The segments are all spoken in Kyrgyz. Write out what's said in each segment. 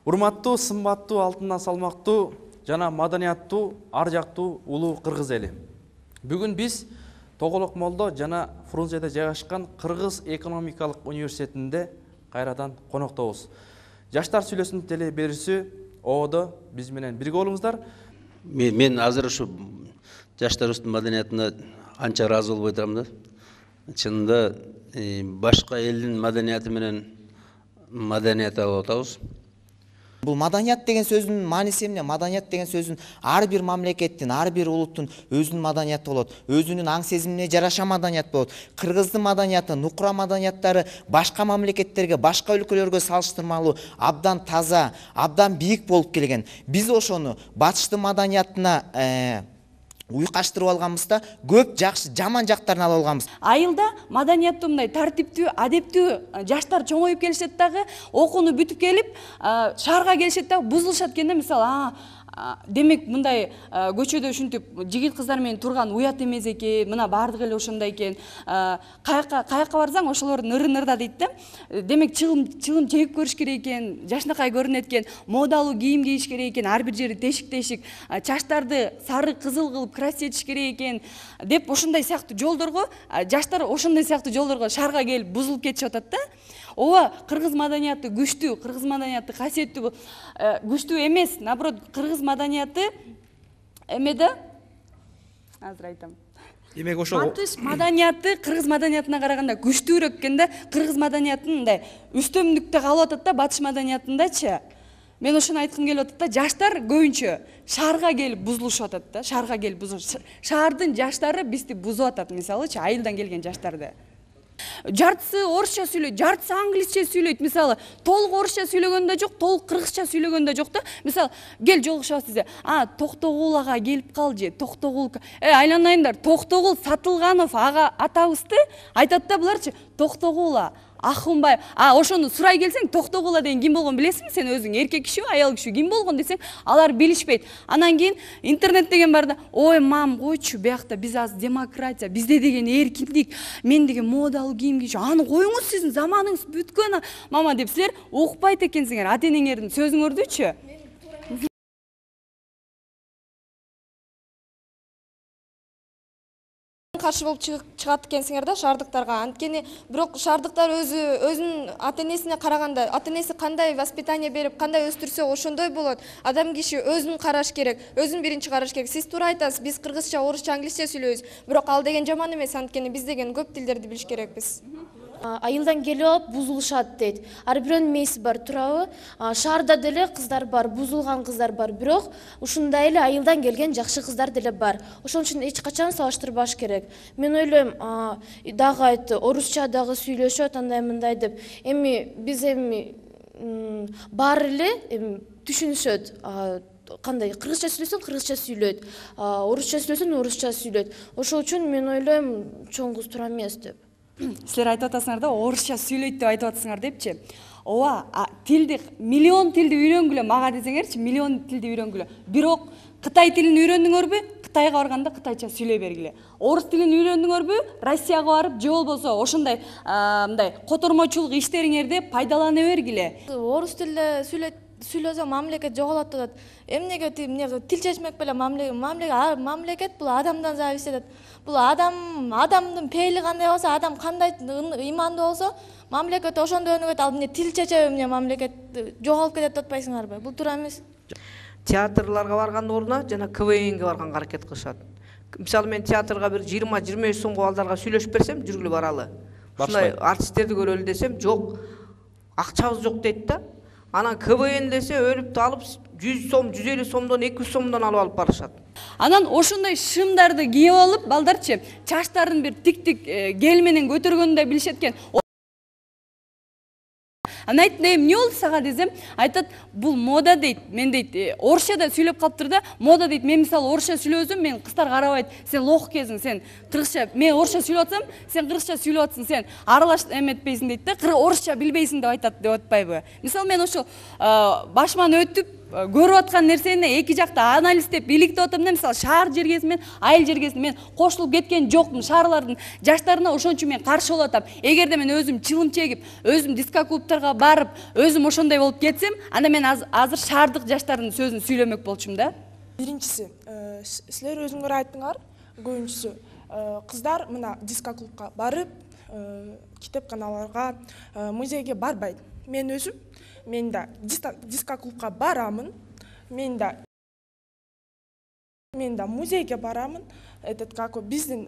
Урматтуу, сымбаттуу, алтындан салмактуу жана маданияттуу, ар жактуу улуу кыргыз эли. Бүгүн биз Тоголок Молдо жана Фрунзеде жайгашкан Кыргыз экономикалык университетинде кайрадан коноктобуз. Жаштар сүйлөсүнүн теле берүүсү ООдо биз менен бирге болуңуздар. Мен азыр ушу жаштарыбыздын маданиятына анча ыраазы болбой турам да. Чынында башка элдин маданияты менен маданият алып атабыз. Бул маданият деген сөздүн мааниси эмне? Маданият деген сөздүн ар бир мамлекеттин, ар бир улуттун өзүнүн маданияты болот. Өзүнүн аң сезимине жараша маданият болот. Кыргыздын маданияты, нукура маданияттары башка мамлекеттерге, башка өлкөлөргө салыштырмалуу абдан таза, абдан бийик болуп келген. Биз ошону батыштын маданиятына уйкаштырып алганбызда көп жакшы жаман жактарын алып алганбыз. Айылда маданияттуу мындай тартиптүү, адептүү жаштар чоңоюп келишет дагы, окууну бүтүп келип, шаарга келишет дагы бузулушат экен да, мисалы, демек мындай көчөдө ушинтип жигит кыздар менен турган уят эмес экен, мына баардыгы эле ошондой экен. Каяка барсаң ошолор ныры-нырда дейт да. Демек чыгым чегип көрүш керек экен, жашнакай көрүнөт экен, модалуу кийим кийиш керек экен, ар бир жери тешик-тешик, чачтарды сары кызыл кылып красить этиш керек экен деп ошондой сыяктуу жолдорго жаштар ошондой сыяктуу жолдорго шаарга келип бузулуп кетишип атат да. Ооба, кыргыз маданияты күчтүү, кыргыз маданияты касиеттүү, күчтүү эмес, наоборот, кыргыз маданияты эме да, азыр айтам. Демек ошол батыш маданияты кыргыз маданиятына караганда күчтүүрөөк экен да, кыргыз маданиятын мындай үстөмдүктө калып атат да батыш маданиятындачы. Мен ошону айткым келип атат да, жаштар көбүнчө шаарга келип бузулушуп атат да, шаарга келип бузулуш. Шаардын жаштары бизди бузуп атат, мисалычы, айылдан келген жаштарды. Жартысы орусча сүйлөйт, жартысы англисче сүйлөйт. Мисалы, толук орусча сүйлөгөн да жок, толук кыргызча сүйлөгөн да жок да. Мисалы, кел жолугушабыз десе, Токтогул ага келип калжы, Токтогул. Айланайындар, Токтогул Сатылганов ага атабызды айтат да буларчы, Токтогула Ахунбаев. Ошону сурай келсең, Токтогула деген ким болгон билесиңби? Сен өзүң эркек кишиби, аял кишиби ким болгон десең, алар билишпейт. Анан кийин интернет деген бар да, ой, мам, койчу, биякта биз азыр демократия, бизде деген эркиндик, мен деген модалуу кийим кийчү. Аны коюңуз, сиздин заманыңыз бүткөн, мама деп силер укпайт экенсиңер, ата-энеңердин сөзүңөрдүчү. Каршы болуп чыгат экенсиңер да шаардыктарга. Анткени бирок шаардыктар өзүнүн ата-энесине караганда, ата-энеси кандай воспитание берип, кандай өстүрсө ошондой болот. Адам киши өзүн караш керек, өзүн биринчи караш керек. Сиз туура айтасыз, биз кыргызча, орусча, англисче сүйлөйбүз. Бирок ал деген жаман эмес, анткени биз деген көп тилдерди билиш керекпиз. Айылдан келип алып бузулушат дейт. Ар бирөөнүн мээси бар, туурабы? Шаарда деле кыздар бар, бузулган кыздар бар, бирок ушундай эле айылдан келген жакшы кыздар деле бар. Ошон үчүн эч качан салыштырбаш керек. Мен ойлойм, дагы айтты, орусча дагы сүйлөшөт, андай мындай деп. Эми биз баары эле түшүнүшөт. Кандай кыргызча сүйлөсөң кыргызча сүйлөйт, орусча сүйлөсөң орусча сүйлөйт. Ошол үчүн мен ойлойм, чоң кыз туура эмес деп. Силер айтып атасыңар да, орусча сүйлөйт деп айтып атасыңар депчи. Ооба, тилди, миллион тилди үйрөнгүлө мага десеңерчи, миллион тилди үйрөнгүлө. Бирок Кытай тилин үйрөндүңөрбү? Кытайга барганда кытайча сүйлөй бергиле. Орус тилин үйрөндүңөрбү? Россияга барып, же болбосо ошондой мындай котормочулук иштериңерде пайдалана бергиле. Орус тилде сүйлөсө мамлекет жоголот атат. Эмнеге тил чечмек беле мамлекет бул адамдан зависит этет. Бул адамдын пейили кандай болсо, адам кандай имандуу болсо, мамлекет ошондой өнүгөт. Ал эмне тил чечеби, эмне мамлекет жоголуп кетет деп атпайсыңарбы? Бул туура эмес. Театрларга баргандын ордуна жана КВНге барганга аракет кылышат. Мисалы мен театрга бир 20-25 сомго балдарга сүйлөшүп берсем, жүргүлө баралы. Ушундай артисттерди көрөлү десем, жок. Акчабыз жок дейт да. Анан КВН десе өлүп алып 100 сом, 150 сомдон, 200 сомдон алып барышат. Анан ошондой шымдарды кийип алып, балдарчы, чачтарын бир тик-тик гель менен көтөргөндү билишет экен. Анан айттым, эмне болду сага десем, айтат, бул мода дейт. Мен дейт, орусчада сүйлөп калыптыр да, мода дейт. Мен мисалы орусча сүйлөсөм, мен кыздар карабайт. Сен лох кезиң, сен кыргызча, мен орусча сүйлөп атсам, сен кыргызча сүйлөп атсың, сен аралаш эметпейсиң дейт да, орусча билбейсиң деп айтат деп атпайбы. Мисалы мен ошо башыман өтүп көрүп аткан нерсени эки жакта анализдеп иликтеп атам да, мисалы шаар жергеси менен айыл жергеси мен кошулуп кеткен жокмун. Шаарлардын жаштарына ошон үчүн мен каршы болуп атам. Эгерде мен өзүм чылым чегип, өзүм диско клубтарга барып, өзүм ошондой болуп кетсем, анда мен азыр шаардык жаштардын сөзүн сүйлөмөк болчумун да. Биринчиси, силер өзүңөр айттыңар, көбүнчүсү кыздар мына диско клубка барып, китепканаларга, музейге барбайт. Мен өзүм, мен да диско клубка барамын, мен да музейге барамын, биздин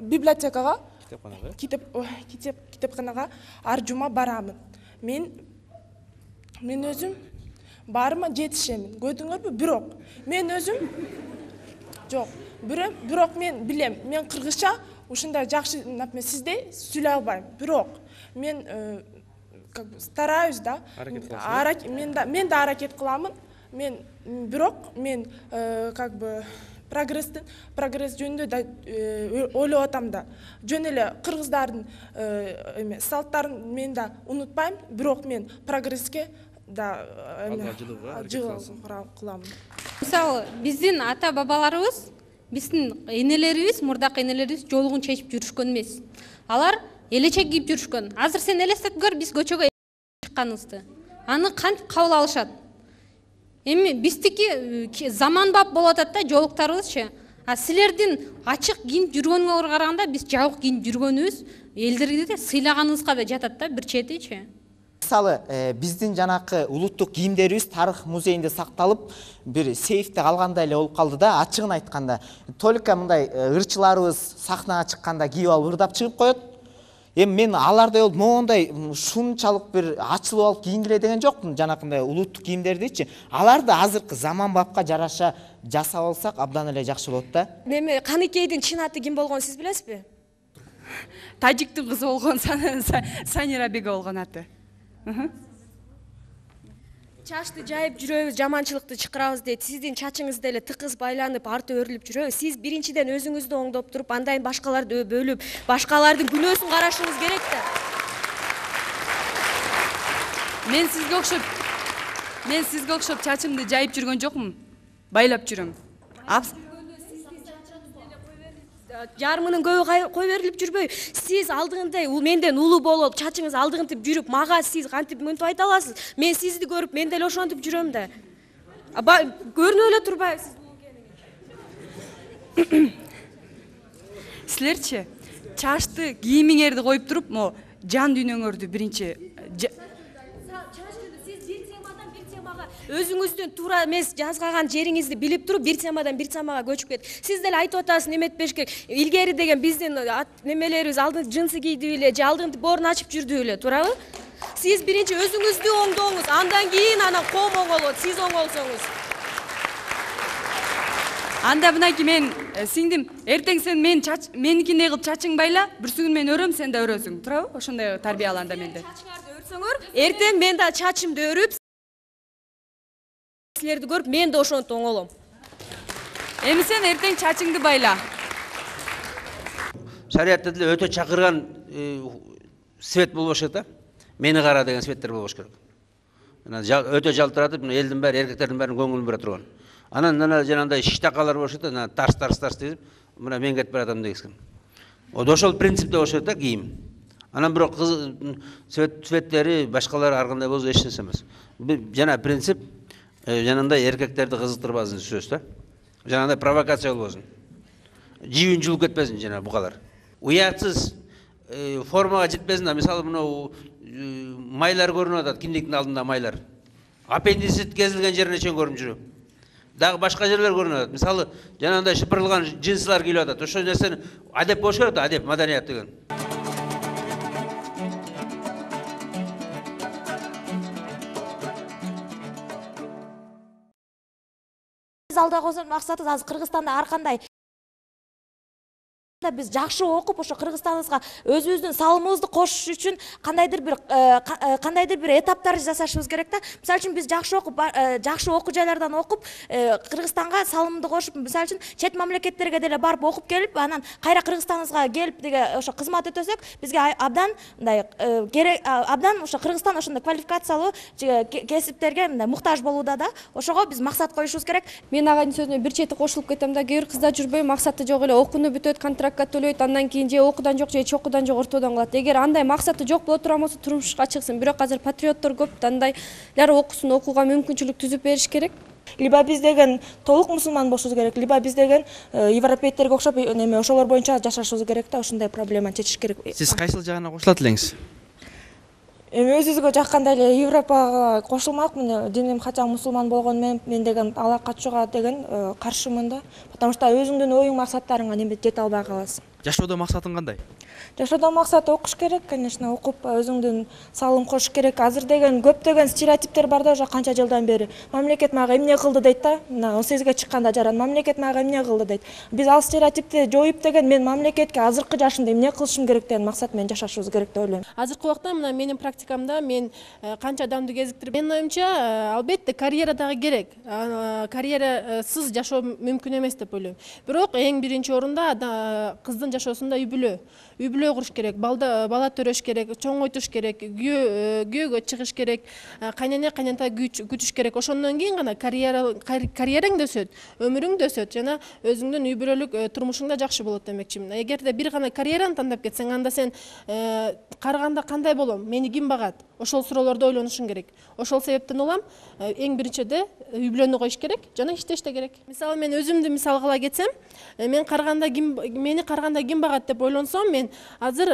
библиотекага, китепканага ар жума барамын. Мен өзүм барыма жетишемин. Көрдүңөрбү? Бирок мен өзүм жок. Бирок мен билем, мен кыргызча ушундай жакшы, например, сиздей сүйлөй албайм. Бирок мен стараюсь да, мен да аракет кыламын. Бирок мен прогресс жөнүндө да ойлоп атам да. Жөн эле кыргыздардын салттарын мен да унутпайм, бирок мен прогресске да жылуу кыламын. Мисалы, биздин ата бабаларыбыз, биздин энелерибиз, мурдакы энелерибиз жолугун чечип жүрүшкөн эмес. Алар элечек кийип жүрүшкөн. Азыр сен элестетип көр, биз көчөгө чыкканыбызды. Аны кантип кабыл алышат? Эми биздики заманбап болуп атат да, жолуктарыбызчы. А силердин ачык кийинип жүргөнүңөргө караганда биз жабык кийинип жүргөнүбүз элдерге сыйлаганыбызга жетет да, бир четичи. Мисалы, биздин жанакы улуттук кийимдерибиз тарых музейинде сакталып, бир сейфте калгандай эле болуп калды да, ачыгын айтканда. Только мындай ырчыларыбыз сахнага чыкканда кийип алып ырдап чыгып коет. Эми мен алардай болуп моундай шунчалык бир ачылып алып кийингиле деген жокмун, жанакындай улуттук кийимдердичи. Аларды азыркы заманбапка жараша жасап алсак абдан эле жакшы болот да. Эми Каныкейдин чын аты ким болгонун сиз билесизби? Тажиктин кызы болгон Санира Беге болгон аты. Чачты жайып жүрөбүз, жаманчылыкты чакырабыз дейт. Сиздин чачыңыз деле тыкыз байланып, арты өрүлүп жүрөбү. Сиз биринчиден өзүңүздү оңдоп туруп, андан башкаларды бөлүп, башкалардын күнөөсүн карашыңыз керек да. Мен сизге окшоп чачымды жайып жүргөн жокмун. Байлап жүрөм. Жарымынын көбү кой берилип жүрбөй. Сиз алдыгындай менден улуу болуп, чачыңыз алдыгынтип жүрүп, мага сиз кантип мынтип айта аласыз? Мен сизди көрүп, мен деле ошентип жүрөм да. Көрүнүп эле турбайбы сиз? Силерчи чачты кийимиңерди коюп туруп, мо жан дүйнөңөрдү биринчи өзүңүздүн туура эмес жазгаган жериңизди билип туруп, бир темадан бир темага көчүп кетип. Сиз деле айтып атасыз, эметпеш керек. Илгери деген биздин немелерибиз алдын жынсы кийди эле, же алдын боорун ачып жүрдү эле, туурабы? Сиз биринчи өзүңүздү оңдооңуз, андан кийин коом оңолот, сиз оңолсоңуз. Анда мынакей мен сиңдим, эртең сен меникиндей кылып чачың байла, бүрсүгүн мен өрөм, сен да өрөсүң, туурабы? Ошондой тарбияланда менде. Чачыңарды өрсөңөр, эртең мен да чачымды өрүп, силерди көрүп, мен да ошонтип оңолом. Эми сен эртең чачыңды байла. Шариатта деле өтө чакырган свет болбош керек да. Мени кара деген светтер болбош керек. Өтө жалтыратып, элдин баары, эркектердин баарынын көңүлүн бура турган. Анан жанагындай шиштакалар болуш керек да, тарс деп, мына мен кетип баратам дегенсин. Ошол принципте болуш керек да кийим. Анан бирок цветтери башкалары ар кандай болсо эч нерсе эмес. Жана принцип жанагындай эркектерди кызыктырбасын сөз да. Жанагындай провокация болбосун. Жибин жулуп кетпесин жана бугалар. Уятсыз формага жетпесин да. Мисалы мына майлар көрүнүп атат, киндиктин алдында майлар. Аппендицит кезилген жерине чейин көрүнүп жүрөт. Дагы башка жерлер көрүнүп атат. Мисалы жанагындай шыпырылган джинсылар кийип атат. Ошол нерсени адеп болуш керек да, адеп, маданият деген. Алда койгон максатыбыз азыр Кыргызстанда ар кандай ошондуктан биз жакшы окуп ошо Кыргызстаныбызга өзүбүздүн салымыбызды кошуш үчүн кандайдыр бир этаптар жасашыбыз керек да. Мисалы үчүн биз жакшы окуп, жакшы окуу жайлардан окуп, Кыргызстанга салымды кошуп, мисалы үчүн чет мамлекеттерге деле барып окуп келип, анан кайра Кыргызстаныбызга келип деге ошо кызмат өтөсөк, бизге абдан мындай керек, абдан ошо Кыргызстан ошондой квалификациялуу кесиптерге мындай муктаж болууда да. Ошого биз максат коюшубуз керек. Мен агайдын сөзүнө бир чети кошулуп кетем да, кээ бир кыздар жүрбөй максаты жок эле окууну бүтөт, контрактка төлөйт, андан кийин же окуудан жок, же эч окуудан жок ортодон калат. Эгер андай максаты жок боло турган болсо турмушка чыксын. Бирок азыр патриоттор көп, андайлар окуусун, окууга мүмкүнчүлүк түзүп бериш керек. Либо биз деген толук мусулман болушубуз керек, либо биз деген европейттерге окшоп неме ошолор боюнча жашашыбыз керек да, ошондой проблеманы чечиш керек. Сиз кайсыл жагына кошулат элеңиз? Эми өзүбүзгө жаккандай эле Европага кошулмакмын. Диним качан мусулман болгону менен мен деген ала качууга деген каршымын да. Потому что өзүңдүн оюң максаттарыңа неме жете албай каласың. Жашоодо максатың кандай? Жашоодо максат окуш керек, конечно, окуп өзүңдүн салым кошуш керек. Азыр деген көптөгөн стереотиптер бар да, уже канча жылдан бери. Мамлекет мага эмне кылды дейт да. Мына 18ге чыкканда жаран мамлекет мага эмне кылды дейт. Биз ал стереотипти жоюп деген мен мамлекетке азыркы жашымда эмне кылышым керек деген максат менен жашашыбыз керек деп ойлойм. Азыркы убакта мына менин практикамда мен канча адамды кезиктирип, менин оюмча албетте карьера дагы керек. Карьерасыз жашоо мүмкүн эмес деп ойлойм. Бирок эң биринчи орунда кыздын жашоосунда үй бүлө куруш керек, бала төрөш керек, чоңойтуш керек, күйөөгө чыгыш керек, кайнене кайнента күтүш керек. Ошондон кийин гана карьераң да өсөт, өмүрүң да өсөт жана өзүңдүн үй бүлөлүк турмушуң да жакшы болот демекчимин. Эгерде бир гана карьераны тандап кетсең, анда сен карыганда кандай болом, мени ким багат? Ошол суроолорду ойлонушуң керек. Ошол себептен улам эң биринчиде үй бүлөнү коюш керек жана иштеш да керек. Мисалы мен өзүмдү мисал кыла кетсем, мени карыганда ким багат деп ойлонсом, мен азыр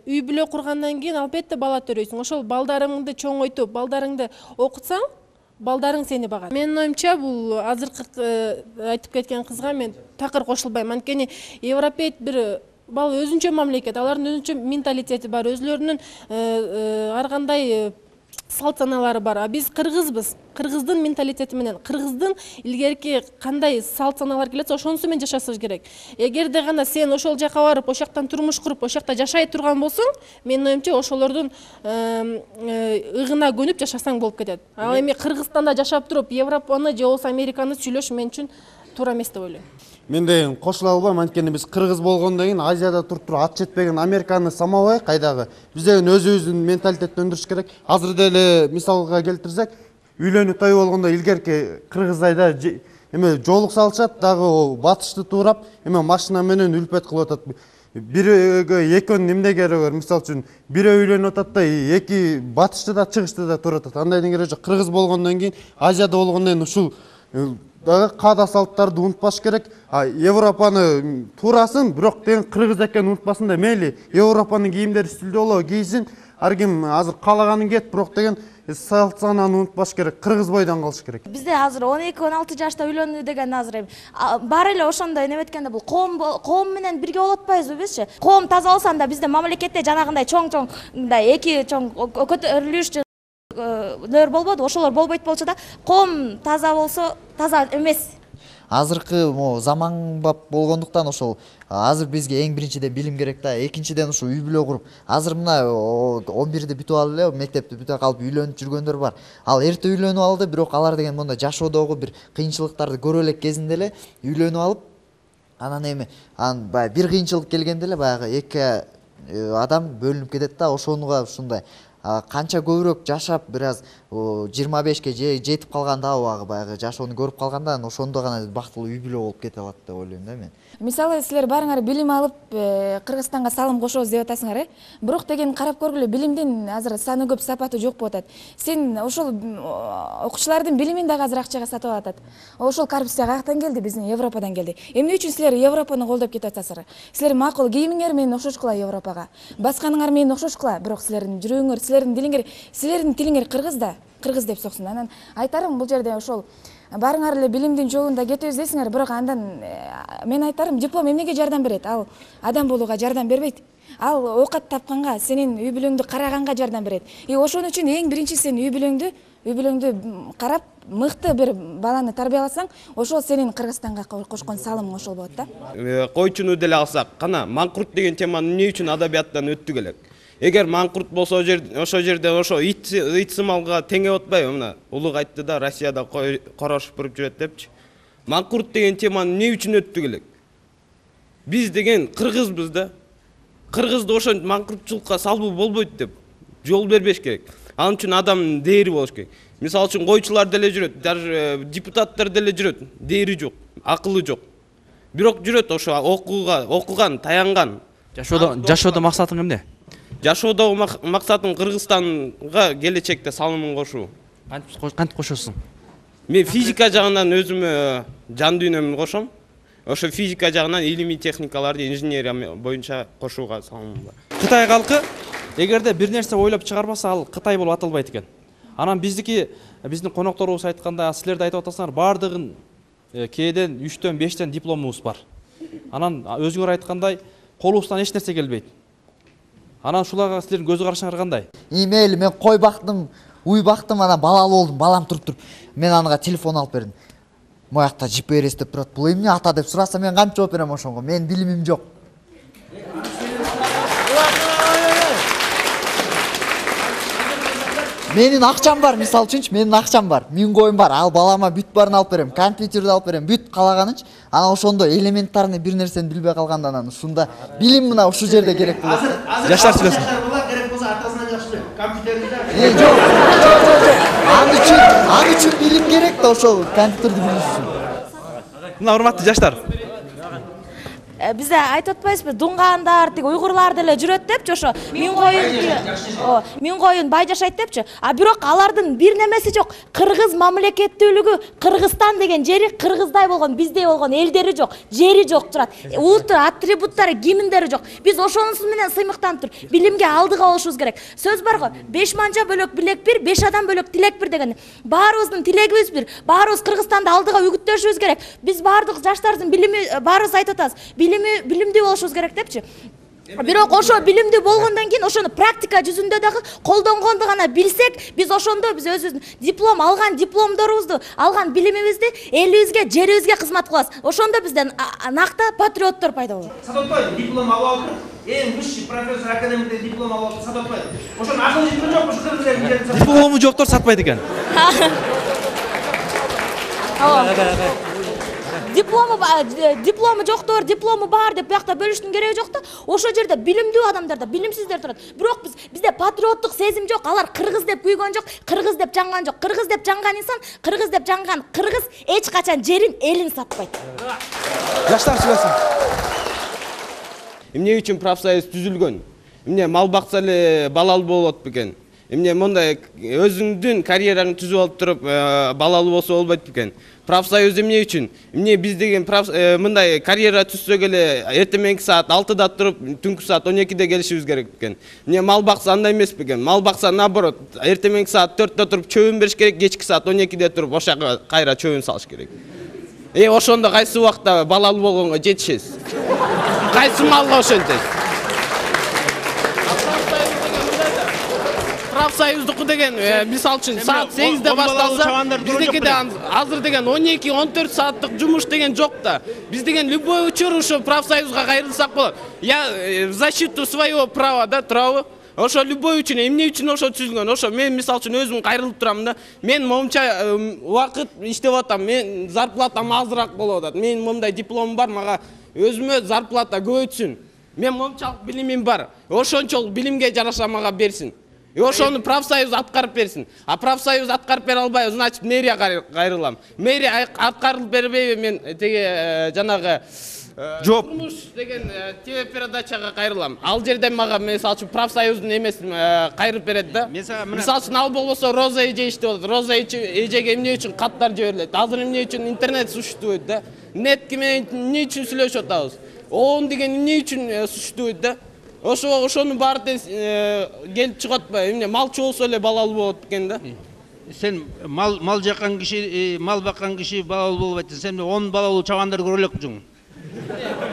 үй бүлө кургандан кийин албетте бала төрөйсүң. Ошол балдарыңды чоңойтуп, балдарыңды окутсаң, балдарың сени багат. Менин оюмча бул азыркы айтып кеткен кызга мен такыр кошулбайм. Анткени европейт бир бал өзүнчө мамлекет, алардын өзүнчө менталитети бар, өзүлөрүнүн ар кандай салт саналары бар. А биз кыргызбыз. Кыргыздын менталитети менен, кыргыздын илгерки кандай салт саналар келетсе, ошонусу менен жашашыбыз керек. Эгерде гана сен ошол жака барып, ошол жактан турмуш куруп, ошол жакта жашай турган болсоң, менин оюмча ошолордун ыгына көнүп жашасаң болуп кетет. Ал эми Кыргызстанда жашап туруп, Европаны же болбосо Американы сүйлөш мен үчүн туура эмес деп ойлойм. Мен деген кошула албайм, анткени биз кыргыз болгондон кийин Азияда туруп ат жетпеген Американы самабай кайдагы. Биз деген өзүбүздүн менталитетти өндүрүш керек. Азыр деле мисалга келтирсек, үйлөнүү той болгондо илгерки кыргыздайда эме жолук салышат, дагы батышты туурап, эме машина менен үлпөт кылып атат. Бирөөгө экөөнүн эмне кереги бар? Мисалы үчүн бирөө үйлөнүп атат да, эки батышты да чыгышты да туруп атат. Андайдын кереги жок. Кыргыз болгондон кийин, Азияда болгондон кийин ушул дагы каада салттарды унутпаш керек. Европаны туурасын, бирок деген кыргыз экенин унутпасын да. Мейли Европанын кийимдери стилдүү болобу кийсин, ар ким азыр каалаганын кийет, бирок деген салт санааны унутпаш керек. Кыргыз бойдон калыш керек. Бизде азыр 12-16 жашта үйлөнүү деген азыр баары эле ошондой неметкенде бул коом менен бирге болот атпайбызбы бизчи? Коом таза болсо анда бизде мамлекетте жанагындай чоң мындай эки чоң көтөрүлүш болбоду, ошолор болбойт болчу да. Коом таза болсо таза эмес. Азыркы заманбап болгондуктан ошол азыр бизге эң биринчиден билим керек да, экинчиден ушу үй бүлө куруп. Азыр мына 11-ди бүтүп алып эле, мектепти бүтүп калып үйлөнүп жүргөндөр бар. Ал эрте үйлөнүп алды, бирок алар деген монда жашоодогу бир кыйынчылыктарды көрө элек кезинде эле үйлөнүп алып, анан эми баягы бир кыйынчылык келгенде эле баягы эки адам бөлүнүп кетет да, ошонуга ушундай канча көбүрөөк жашап, бир аз 25ке жетип калганда баягы жашоону көрүп калганда, ошондо гана бактылуу үй бүлө болуп кете алат деп ойлойм да мен. Мисалы силер баарыңар билим алып Кыргызстанга салым кошобуз деп атасыңар, бирок деген карап көргүлө, билимдин азыр саны көп, сапаты жок болуп атат. Сен ошол окуучулардын билимин дагы азыр акчага сатып алат. Ошол коррупция каяктан келди? Биздин Европадан келди. Эмне үчүн силер Европаны колдоп кетип атасыздар? Силер макул кийимиңер менен окшошкула Европага, басканыңар менен окшошкула, бирок силердин жүрөгүңөр, силердин тилиңер кыргыз да, кыргыз деп соксун. Анан айтарым, бул жерде ошол баарыңар эле билимдин жолунда кетебиз дейсиңер, бирок андан мен айтарым, диплом эмнеге жардам берет? Ал адам болууга жардам бербейт. ал оокат тапканга, сенин үй бүлөңдү караганга жардам берет. Ошон үчүн эң биринчи сен үй бүлөңдү карап, мыкты бир баланы тарбияласаң, ошол сенин Кыргызстанга кошкон салымың ошол болот да. Койчуну деле алсак, кана маңкурт деген теманы эмне үчүн адабияттан өттүк элек? Эгер маңкурт болсо ошол жерде ошо ит сымалга теңеп атпайбы? Мына улуг айтты да, Россияда корош буруп жүрөт депчи. Маңкурт деген теманы эмне үчүн өттүк элек? Биз деген кыргызбыз да. Кыргызды ошентип маңкуртчулукка салбуу болбойт деп жол бербеш керек. Ал үчүн адамдын дээри болуш керек. Мисалы үчүн койчулар деле жүрөт, даже депутаттар деле жүрөт, дээри жок, акылы жок. Бирок жүрөт ошо окуган, таянган. Жашоодо максатың эмне? Жашоодогу максатым Кыргызстанга келечекте салымын кошуу. Кантип кошосуң? Мен физика жагынан өзүмө жан дүйнөмдү кошом. Ошо физика жагынан илимий техникаларды, инженерия боюнча кошууга салымым бар. Кытай калкы эгерде бир нерсе ойлоп чыгарбаса, ал Кытай болуп аталбайт экен. Анан биздин конокторубуз айтканда, силер да айтып атасыңар, баардыгын кээден 3төн 5тен дипломубуз бар. Анан өзүңөр айткандай, колубуздан эч нерсе келбейт. Анан шуларга силердин көз карашыңар кандай? Мейли, мен кой бактым, уй бактым, анан балалуу болдум, балам туруп. Мен анага телефон алып бердим. Моякта GPS деп турат. Бул эмне ата деп сураса, мен кантип жооп берем ошонго? Менин билимим жок. Менин акчам бар, мисалы үчүнчү, менин акчам бар. 1000 коюм бар. Ал балама бүт барын алып берем, компьютерди алып берем, бүт калаганынчы. Анан ошондо элементарный бир нерсени билбей калганда, анан ушунда билим мына ушул жерде керек болот. Жаштар сүйлөсүн. Керек болсо атасынан жакшы билем. Компьютерди Жок. Аны үчүн билим керек да ошол компьютерди билиш үчүн. Мына урматтуу жаштар. Бизде айтып атпайсызбы, дуңгандар, тиги уйгурлар деле жүрөт депчи, ошо 1000 коюн бай жашайт депчи. А бирок алардын бир немеси жок. Кыргыз мамлекеттүүлүгү, Кыргызстан деген жери кыргыздай болгон, биздей болгон элдери жок, жери жок турат. Улуттук атрибуттары, гимндери жок. Биз ошонусу менен сыймыктанып тур. Билимге алдыга болушубуз керек. Сөз бар го, 5 манжа бөлөк билек бир, 5 адам бөлөк тилек бир деген. Баарыбыздын тилегибиз бир. Баарыбыз Кыргызстанды алдыга үгүттөшүбүз керек. Биз баардык жаштардын билими, баарыбыз айтып атабыз. Билимдүү болушубуз керек депчи. Бирок ошо билимдүү болгондон кийин ошону практика жүзүндө дагы колдонгонду гана билсек, биз ошондо биз өзүбүздүн диплом алган дипломдорубузду, алган билимибизди элибизге, жерибизге кызмат кылабыз. Ошондо бизден накта патриоттор пайда болот. Садатбай диплом алып алып, эң высший профессор академиктен диплом алып алып, Садатбай. Ошонун акыл житиби жок, ошо кыргыз элинин. Диплому жоктор сатпайт экен. Диплому жоктор, диплому бар деп биякта бөлүштүн кереги жок да. Ошо жерде билимдүү адамдар да, билимсиздер турат. Бирок бизде патриоттук сезим жок. Алар кыргыз деп күйгөн жок, кыргыз деп жанган жок. Кыргыз деп жанган инсан, кыргыз деп жанган кыргыз эч качан жерин, элин сатпайт. Жаштар сүйлөсүн. Эмне үчүн профсоюз түзүлгөн? Эмне мал бакса эле балалуу болот бекен? Эмне мындай өзүңдүн карьераңды түзүп алып туруп балалуу болсо болбойт бекен? Профсоюз эмне үчүн? Эмне биз деген мындай карьера түзсөк эле эртеменки саат 6-да туруп, түнкү саат 12-де келишибиз керек бекен? Эмне мал бакса андай эмес бекен? Мал бакса наоборот, эртеменки саат 4-да туруп чөбүн бериш керек, кечки саат 12-де туруп ошага кайра чөбүн салыш керек. Ошондо кайсы убакта балалуу болгонго жетишесиз? Кайсы малга ошентесиз? Профсоюздуку деген, мисалы үчүн, саат 8-де башталса, биздикиде азыр деген 12-14 сааттык жумуш деген жок да. Биз деген любой учур ушу профсоюзга кайрылсак болот. Я в защиту своего права, да, турабы? Ошо любой үчүн, эмне үчүн ошо түзүлгөн? Ошо мен мисалы үчүн өзүм кайрылып турам да. Мен момча убакыт иштеп атам, мен зарплатам азыраак болуп атат. Мен момдай дипломум бар, мага өзүмө зарплата көбөйтсүн. Мен момчалык билимим бар. Ошончолук билимге жараша мага берсин. Ошону профсоюз аткарып берсин. А профсоюз аткарып бере албай, значит, мэрия кайрылам. Мэрия аткарылып бербейби, мен теге жанагы жооп деген телепередачага кайрылам. Ал жерде мага мисалы үчүн профсоюздун эмесин кайрып берет да. Мисалы үчүн ал болбосо Роза эже иштеп атат. Роза эжеге эмне үчүн каттар жиберилет? Азыр эмне үчүн интернет существует да? Нет менен эмне үчүн сүйлөшүп атабыз? Он деген эмне үчүн существует да? Ошонун баары келип чыгат атпайбы? Эмне малчы болсо эле балалуу болот экен да. Сен мал жаккан киши, мал баккан киши балалуу болбойт. Сен 10 балалуу чабандар көрө элек жуң.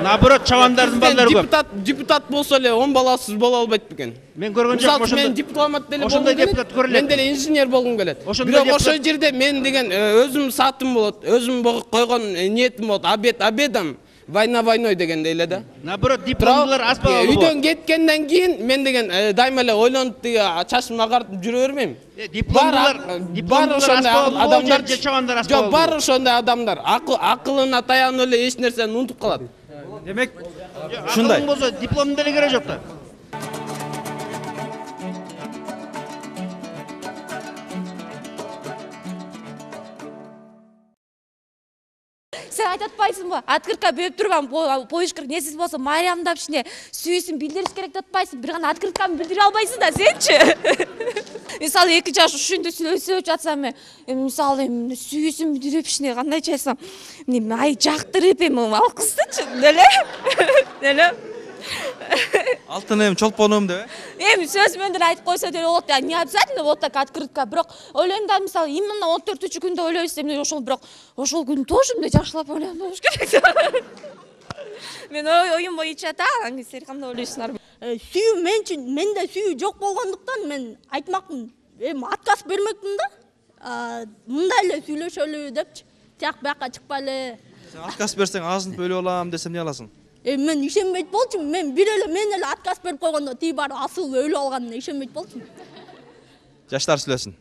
Наоборот, чабандардын балдары көп. Депутат болсо эле 10 баласыз боло албайт бекен. Мен көргөн жокмун ошондой. Мен дипломат деле ошондой депутат көрүлөт. Мен деле инженер болгум келет. Бирок ошол жерде мен деген өзүм саатым болот, өзүм койгон ниетим болот. Обедам. Война войной дегендей эле да. Наоборот, дипломдулар аз болот. Үйдөн кеткенден кийин мен деген дайыма эле ойлонуп тиги чачымды агартып жүрө бермейм. Дипломдулар ошондой адамдар же чабандар аз болот. Жок, бар ошондой адамдар. Акылына таянып эле эч нерсени унутуп калат. Демек, ушундай. Болсо дипломдун деле кереги жок да. Сен айтып атпайсыңбы? Открытка берип турган поишкир несиз болсо Мариямдап ишине сүйүүсүн билдириш керек деп атпайсың. Бир гана открытканы билдире албайсың да сенчи. Мисалы 2 жаш ушундай сүйлөшүп жатсам мен, мисалы сүйүүсүн билдирип ишине кандайча айтсам, ай жактырып ал кыздычы, деле. Алтыным, чолпонум деп. Сөз менен айтып койсо деле болот. Не обязательно вот так открытка, бирок ойлойм да, мисалы, именно 14-күндө ойлойсуз, эмне ошол бирок ошол күнү тоже мындай жакшылап ойлонуп болуш керек. Мен оюм боюнча да, силер кандай ойлойсуңар? Сүйүү менде сүйүү жок болгондуктан мен айтмакмын. Отказ бермекмин да. Мындай эле сүйлөшөлү депчи. Тияк бияка чыкпай эле. Сен отказ берсең азын бөлүп алам десем эмне аласың? Мен ишенбейт болчумун. Мен мен эле отказ берип койгондо тиги баары асыл өлүп алганына ишенбейт болчумун. Жаштар сүйлөсүн.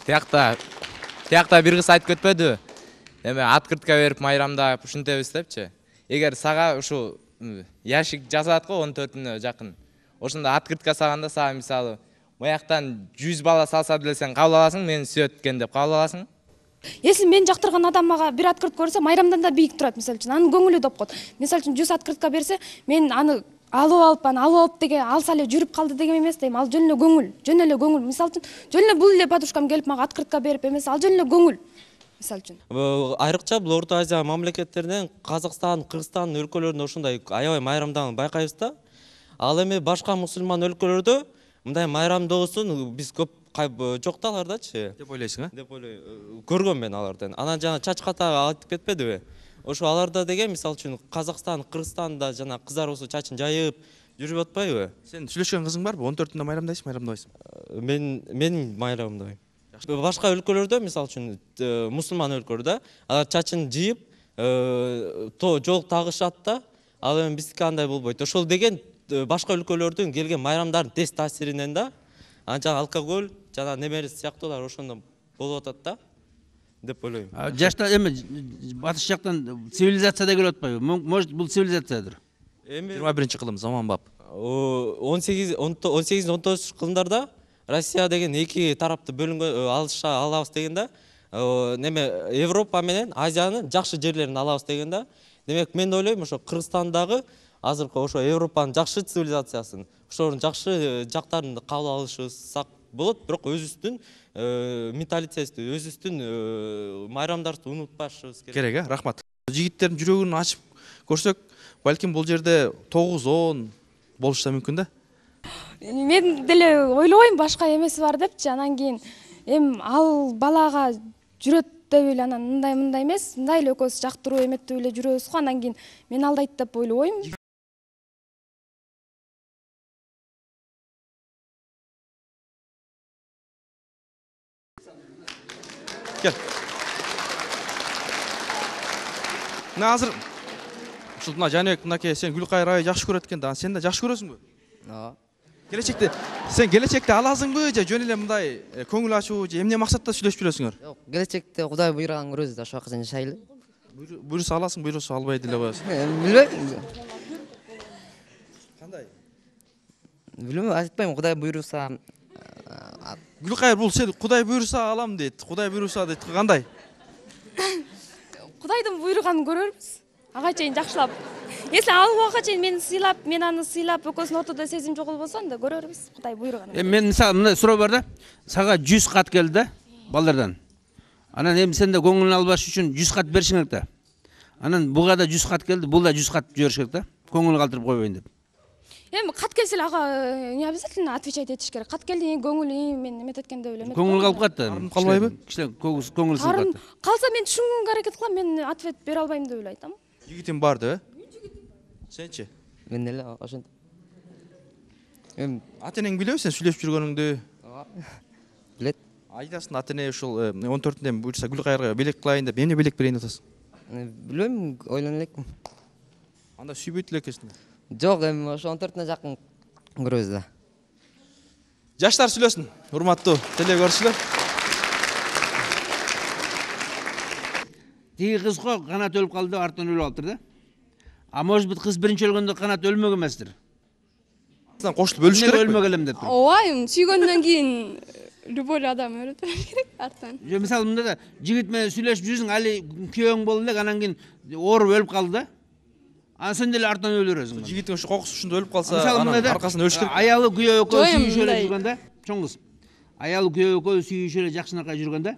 Тиякта бир кыз айтып кетпедиби? Эме открытка берип майрамдап ушинтебиз депчи. Эгер сага ушу ящик жасат го 14-үнө жакын. Ошондо открытка салганда сага мисалы мояктан 100 бала салса деле сен кабыл аласың, мени сүйөт экен деп кабыл аласың. Если мен жактырган адам мага бир открытка берсе, майрамдан да бийик турат, мисалы үчүн. Анын көңүлү доп коет. Мисалы үчүн 100 открытка берсе, мен аны алып деген алса эле жүрүп калды деген эмес дейм. Ал жөн эле көңүл. Мисалы үчүн жөн эле бул эле подружкам келип мага открытка берип эмес, ал жөн эле көңүл. Мисалы үчүн. Айрыкча бул Орто Азия мамлекеттеринен Казакстан, Кыргызстан өлкөлөрүндө ошондой аябай майрамдан байкайбыз да. Ал эми башка мусулман өлкөлөрдө мындай майрамдоосун биз көп жок да алардачы. Деп ойлойсуң, Деп ойлойм. Көргөм мен алардан. Анан жана чачката айтып кетпедиби? Ошо аларда деген мисалы үчүн Казакстан, Кыргызстанда жана кыздар болсо чачын жайып жүрүп атпайбы? Сен сүйлөшкөн кызың барбы? 14-үндө майрамдайсың, майрамдабайсың? Мен майрамдабайм. Башка өлкөлөрдө мисалы үчүн мусулман өлкөлөрдө алар чачын жыйып, жол тагышат да. Ал эми биздики андай болбойт. Ошол деген башка өлкөлөрдүн келген майрамдардын тез таасиринен да. Анча алкоголь жана немери сыяктуулар ошондо болуп атат да деп ойлойм. Жаштар эми батыш жактан цивилизация да келип атпайбы? Может, бул цивилизациядыр. Эми 21-кылым заманбап. 18-19 кылымдарда Россия деген эки тарапты бөлүнгөн алабыз деген да. Неме Европа менен Азиянын жакшы жерлерин алабыз деген да. Демек мен ойлойм ошо Кыргызстандагы азыркы ошо Европанын жакшы цивилизациясын, ошонун жакшы жактарын кабыл алышсак болот, бирок өзүбүздүн менталитетти, өзүбүздүн майрамдарды унутпашыбыз керек. Рахмат. Жигиттердин жүрөгүн ачып көрсөк, балким бул жерде 9-10 болушу да мүмкүн да. Мен деле ойлобойм башка эмеси бар депчи. Анан кийин ал балага жүрөт деп эле анан мындай эмес, мындай эле экөөбүз жактыруу эметтеп эле жүрөбүз го. Анан кийин мен алдайт деп ойлобойм. Gel. Мына азыр ушул мына Жаныбек мынакей сен Гүлкайыр аябай жакшы көрөт экен да. Сен да жакшы көрөсүңбү? Ооба. Келечекте аласыңбы же жөн эле мындай көңүл ачуу же эмне максатта сүйлөшүп жүрөсүңөр? Жок, келечекте Кудай буйруган көрөбүз да, ошол убакка чейин жашайлы. Буйруса аласың, буйруса албай деле коесуң. Билбейм. Кандай? Билбейм, айтпайм, Кудай буйруса. Гүлкайыр бул сен Кудай буйруса алам дейт. Кудай буйруса дейт. Кандай? Кудайдын буйруганын көрөрбүз. Ага чейин жакшылап. Если ал убакка чейин мени сыйлап, мен аны сыйлап, экөөбүздүн ортодо сезим жок болбосо, анда көрөрбүз. Кудай буйруганын. Мен мисалы мындай суроо бар да. Сага 100 кат келди да, балдардан. Анан эми сен да көңүлүн албаш үчүн 100 кат беришиң керек да. Анан буга да 100 кат келди, бул да 100 кат жибериш керек да. Көңүл калтырып койбойн деп. Эми кат келсе эле ага не обязательно отвечать этиш керек. Кат келди, көңүл мен эметет экен деп эле. Көңүл калып калат да. Калбайбы? Кичине көңүл сынып калат. Калса мен түшүнгөнгө аракет кылам, мен ответ бере албайм деп эле айтам. Жигитим бар деп? Сенчи? Мен эле ошентип. Эми ата энең билеби сен сүйлөшүп жүргөнүңдү? Билет. Айтасың ата эне ушул 14-үндө буюрса Гүлкайырга белек кылайын деп, эмне белек берейин деп атасың? Билбейм, ойлоно элекмин. Анда сүйбөйт эле экенсиң. Жок, эми ошо 14-үнө жакын көрөбүз да. Жаштар сүйлөсүн, урматтуу теле көрүүчүлөр. Тиги кызга канат өлүп калды, артынан өлүп алыптыр да. А может быть кыз биринчи өлгөндө канат өлмөгөн эместир. Кошулуп өлүш керек. Өлмөк элем деп. Ооба, сүйгөндөн кийин любой адам өлөт керек артынан. Же мисалы мында да жигит менен сүйлөшүп жүрсүң, али күйөөң болду элек, анан кийин ооруп өлүп калды да. Анан сен деле артынан өлөрөсүң. Жигиттин ошо кокусушунда өлүп калса, анан аркасынан өлүш керек. Аялы күйөө экөө сүйүшүп эле жүргөндө, чоң кыз. Аялы күйөө экөө сүйүшүп эле жакшынакай жүргөндө,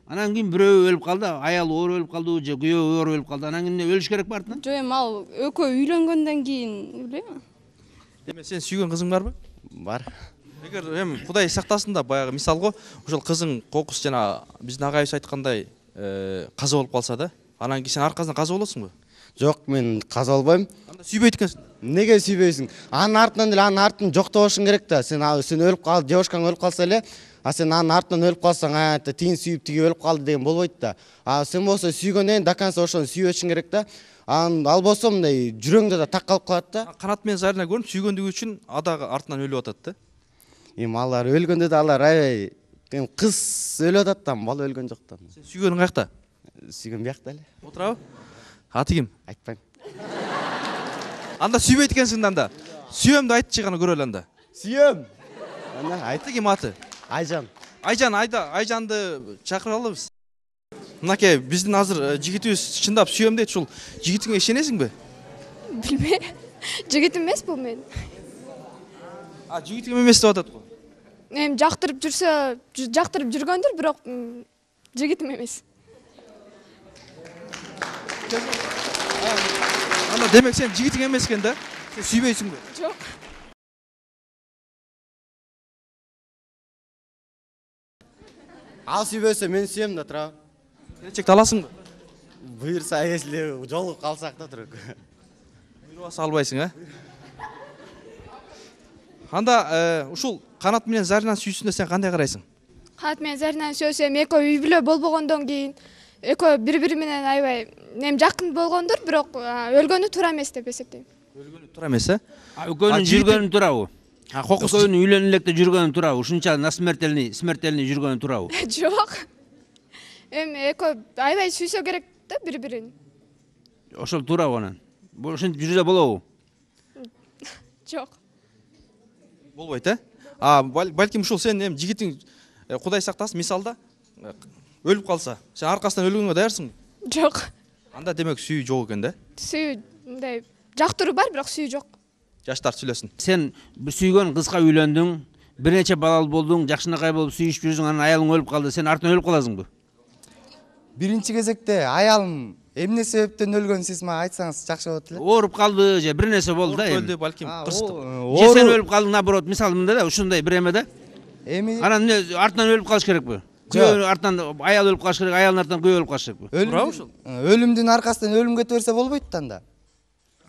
анан кийин бирөө өлүп калды, аялы ооруп өлүп калды, же күйөө ооруп өлүп калды. Анан кийин өлүш керек артынан? Жок, эми ал экөө үйлөнгөндөн кийин, билбейм. Эми сен сүйгөн кызың барбы? Бар. Эгер эми Кудай сактасын да, баягы мисалга ошол кызың кокус жана биздин агайыбыз айткандай каза болуп калса да, анан кийин сен аркасынан каза болосуңбу? Жок, мен каза болбойм. Анда сүйбөйт экенсиң. Неге сүйбөйсүң? Анын артынан деле анын артын жоктошуң керек да. Сен өлүп калды, девушкаң өлүп калса эле, а сен анын артынан өлүп калсаң, тигин сүйүп тиги өлүп калды деген болбойт да. А сен болсо сүйгөндөн до конца ошону сүйүшүң керек да. Ал болсо мындай жүрөгүңдө да так калып калат да. Канат менен Зарина көрүнүп сүйгөндүгү үчүн ада артынан өлүп атат да. Эми алар өлгөндө да алар аябай кыз өлүп атат да, бала өлгөн жок да. Сен сүйгөнүң каякта? Сүйгөн биякта эле. Отурабы? Аты ким? Айтпайм. Анда сүйбөйт экенсиң да анда. Сүйөм деп айтчы гана көрөлү анда. Сүйөм. Анда айты ким аты? Айжан. Айжанды чакыралы биз. Мынакей биздин азыр жигитибиз чындап сүйөм дейт, ушул жигитиңе ишенесиңби? Билбейм. Жигит эмес бул мен. Жигитиң эмес деп атат го. Эми жактырып жүрсө, жактырып жүргөндүр, бирок жигитим эмес. Анда демек сен жигитиң эмес экен да? Сен сүйбөйсүңбү? Жок. Ал сүйбөсө мен сүйөм да, тура. Келечекте аласыңбы? Буйрса, если жолугуп калсак да, тура. Буйрубаса албайсың, а? Анда ушул Канат менен Заринанын сүйүүсүнө сен кандай карайсың? Канат менен Заринаны сүйсөм, экөө үй бүлө болбогондон кийин экөө бири-бири менен аябай жакын болгондур, бирок өлгөнү туура эмес деп эсептейм. Өлгөнү туура эмес, э? Экөөнүн жүргөнү туурабы? Экөөнүн үйлөнүп электе жүргөнү туурабы? Ушунча смертельный жүргөнү туурабы? Жок. Эми экөө аябай сүйсө керек да бири-бирин. Ошол туурабы анан? Ошентип жүрсө болобу? Жок. Болбойт, э? Балким ушул сен эми жигитиң Кудай сактасын, мисалда өлүп калса, сен аркасынан өлгөнгө даярсың? Жок. Анда демек сүйүү жок экен да? Сүйүү мындай жактыруу бар, бирок сүйүү жок. Жаштар сүйлөсүн. Сен сүйгөн кызга үйлөндүң, бир нече балалуу болдуң, жакшынакай болуп сүйүшүп жүрсүң, анан аялың өлүп калды, сен артынан өлүп каласыңбы? Биринчи кезекте аялым эмне себептен өлгөнүн сиз мага айтсаңыз жакшы болот эле. Ооруп калды же бир нерсе болду да. Өлдү балким, кырсык. Же сен өлүп калдың, наоборот, мисалы мындай да, ушундай бир эме да. Эми анан артынан өлүп калыш керекпи? Күйөө артынан аял өлүп калыш керек, аялдын артынан күйөө өлүп калыш керекпи? Туурабы ушул? Өлүмдүн аркасынан өлүм кете берсе болбойт да анда.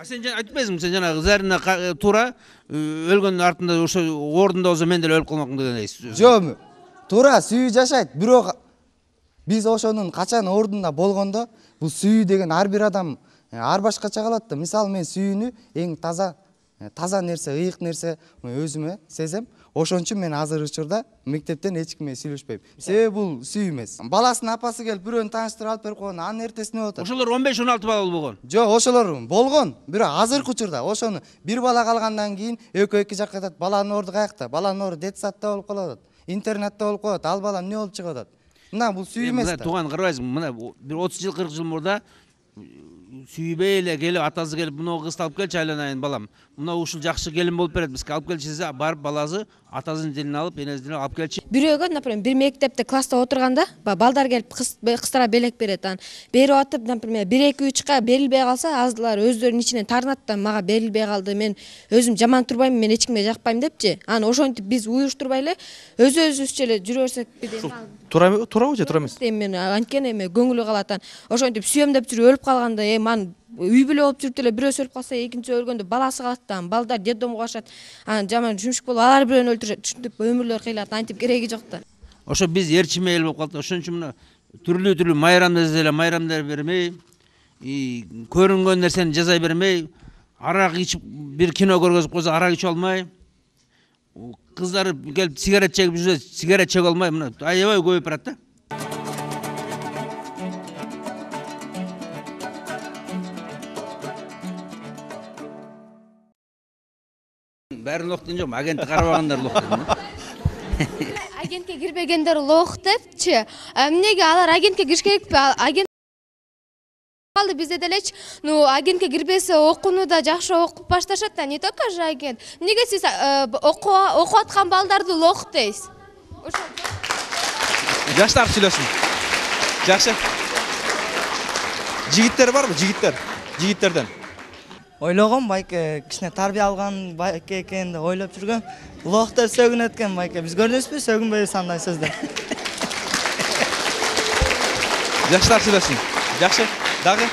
Сен айтпайсыңбы, сен жанагы Зарина туура өлгөндүн артында ошо ордунда болсо мен деле өлүп калмакмын дегендей. Жок, туура сүйүү жашайт, бирок биз ошонун качан ордунда болгондо бул сүйүү деген ар бир адам ар башкача калат да. Мисалы мен сүйүүнү эң таза нерсе, ыйык нерсе өзүмө сезем. Ошон үчүн мен азыр учурда мектептен эч ким менен сүйлөшпөйм. Себеби бул сүйүү эмес. Баласынын апасы келип бирөөнү тааныштырып алып берип койгон, анын эртесине болот. Ошолор 15-16 балалуу болгон. Жок, ошолор болгон. Бирок азыркы учурда ошону бир бала калгандан кийин экөө эки жакка кетет. Баланын орду каякта? Баланын орду детсадта болуп калат, интернатта болуп калат. Ал бала эмне болуп чыгып атат? Мына бул сүйүү эмес да. Тууган карабайсыңбы? Мына бир 30 жыл 40 жыл мурда сүйбөй эле келип атасы келип мына кызды алып келчи айланайын балам. Мына ушул жакшы келин болуп берет, бизге алып келчи десе, барып баласы атасынын тилин алып, энесинин алып келчи. Бирөөгө, например, бир мектепте класста отурганда, балдар келип кыздара белек берет. Анан берип атып, например, 1-2-3ка берилбей калса, аздылар өздөрүнүн ичинен тарынат да, мага берилбей калды, мен өзүм жаман турбайм, мен эч кимге жакпайм депчи. Анан ошентип биз уюштурбай эле өзүбүзчө эле жүрө берсек деп. Туурабы же туура эмес? Мен анткени эме көңүлү калат. Ошентип сүйөм деп жүрүп өлүп калганда, ман үй бүлө болуп жүрүп эле бирөөсү өлүп калса экинчиси өлгөндө баласы калат да, балдар детдомго барышат, анан жаман жумшук болуп алар бирөөнү өлтүрүшөт, ушинтип өмүрлөр кыйлат, антип кереги жок да. Ошо биз ээрчиме эл болуп калдык. Ошон үчүн мына түрлүү майрам десе эле майрамдар бермей, көрүнгөн нерсени жасай бермей, арак ичип бир кино көргөзүп койсо арак ичип алмай, кыздар келип сигарет чегип жүрсө сигарет чеге алмай, мына аябай көбөйүп барат да. Бәрін лоқтын жоқ, агентті қарабағандар лоқтын. Агентке кирбегендер лох депчи. Эмнеге алар агентке кириш керекпи? Агент калды бизде делечи. Ну, агентке кирбесе окууну да жакшы окуп башташат да, не только же агент. Эмнеге сиз окуп аткан балдарды лох дейсиз? Жаштар сүйлөсүн. Жакшы. Жигиттер барбы? Жигиттерден. Ойлогом байке кичине тарбия алган байке экен деп ойлоп жүргөм. Лохтер сөгүнөт экен байке. Биз көрдүңүзбү сөгүнбөйбүз андай сөздөн. Жаштар сүйлөсүн. Жакшы. Дагы.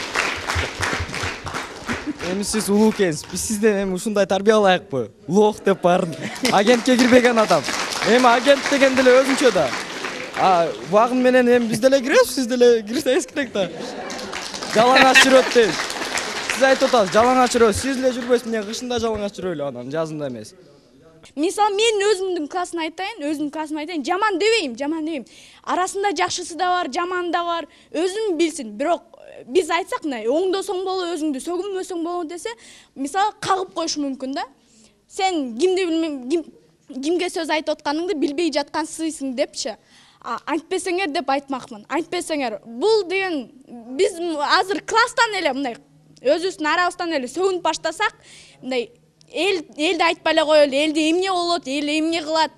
Эми сиз улуу экенсиз. Биз сизден эми ушундай тарбия алайыкпы? Лох деп баарын агентке кирбеген адам. Эми агент деген деле өзүнчө да. Багым менен эми биз деле киребиз, сиз деле кирсеңиз керек да. Жалаңач жүрөт дейм. Siz aytып атасыз, жалаңач жүрөбүз. Сиз эле жүрбөйсүз, эмне кышында жалаңач жүрөлү анан, жазында эмес. Мисалы мен өзүмдүн классымды айтайын, жаман дебейм. Арасында жакшысы да бар, жаманы да бар. Өзүн билсин. Бирок биз айтсак, мына оңдосоң боло, өзүңдү сөгүнбөсөң боло десе, мисалы кагып коюшу мүмкүн да. Сен кимге сөз айтып атканыңды билбей жаткансың депчи. Айтпесеңер деп айтмакмын. Айтпесеңер. Бул деген биз азыр класстан эле мындай өзүбүздүн арабыздан эле сөгүнүп баштасак, мындай элди айтпай эле коелу, элде эмне болот, эл эмне кылат,